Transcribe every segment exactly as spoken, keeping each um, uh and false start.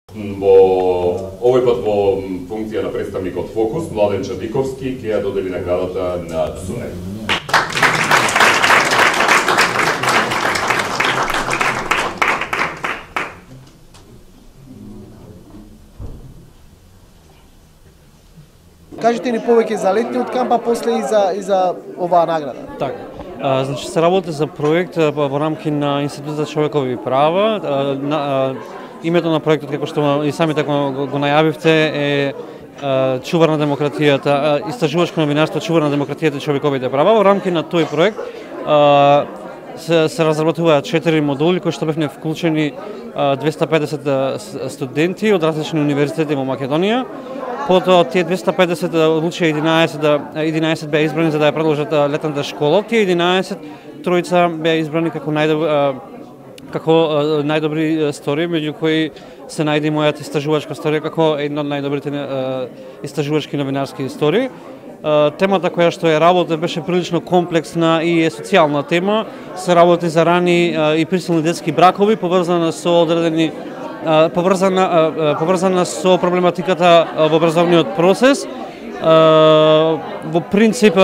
Во овој пат во функција на представникот Фокус, Младен Чадиковски ќе ја додели наградата на Цунев. Кажете ни повеќе за летниот камп, а после и за и за оваа награда. Така. А, значи се работи за проект во рамки на Институт за човекови права. А, на, а, името на проектот, како што и самите го, го најавивте, е а, Чувар на демократијата, истражувачко новинарство Чувар на демократијата и човековите права. Во рамки на тој проект а, се, се разработуваат четири модули кои што бевме вклучени двеста и педесет студенти од различни универзитети во Македонија. Потоа тие двеста и педесет одлучија единаесет, единаесет беа избрани за да ја продолжат летната школа. Тие единаесет тројца беа избрани како најдобри како најдобри истории, меѓу кои се најде мојата истражувачка историја како една од најдобрите истражувачки новинарски истории. Темата која што ја работи беше прилично комплексна и е социјална тема. Се работи за рани и присилни детски бракови, поврзана со одредени поврзана поврзана со проблематиката во образовниот процес. Во принцип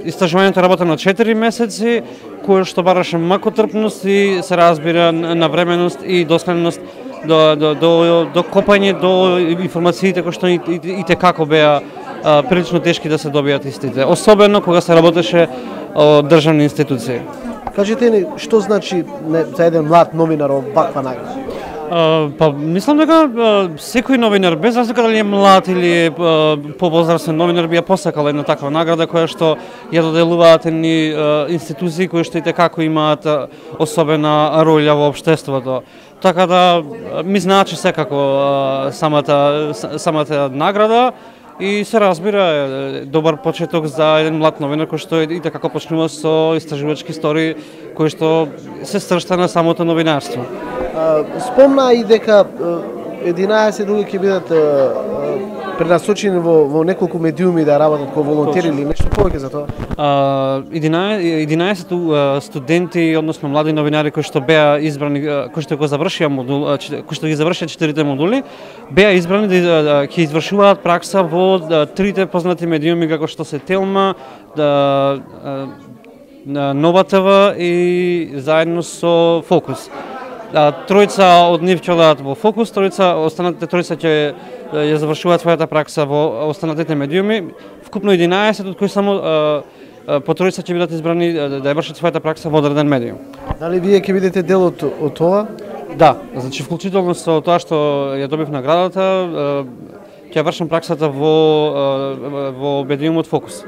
истражувањето работи на четири месеци, кое што бараше макотрпност и се разбира навременост и доследност до до до до копање до информациите кои што и, и, и те како беа прилично тешки да се добијат истите, особено кога се работеше од државни институции. Кажете ни што значи не, за еден млад новинар ваква награда? Uh, па мислам дека uh, секој новинар, без разлика дали е млад или uh, повозрастен новинар, би ја посакал една таква награда која што ја доделуваат едни uh, институции кои што и како имаат uh, особена роља во општеството. Така да ми значи секако uh, самата самата награда и се разбира добар почеток за еден млад новинар кој што и како почнува со истражувачки истории кои што се сршта на самото новинарство. Спомна и дека единаесет луѓе ќе бидат пренасочени во, во неколку медиуми да работат како волонтери или нешто повеќе за тоа? единаесет студенти, односно млади новинари кои што беа избрани, кои што го завршија модул, кои што ги завршија четирите модули, беа избрани да ќе извршуваат пракса во трите познати медиуми како што се Телма, Нова ТВ и заедно со Фокус. Тројца од нив ќе одат во Фокус, тројца, останатите тројца ќе ја завршуваат својата пракса во останатите медиуми, вкупно единаесет, од кои само по тројца ќе бидат избрани да ја вршат својата пракса во одреден медиум. Дали вие ќе бидете дел од, од тоа? Да, значи вклучително со тоа што ја добив наградата, ќе вршам праксата во во медиумот Фокус.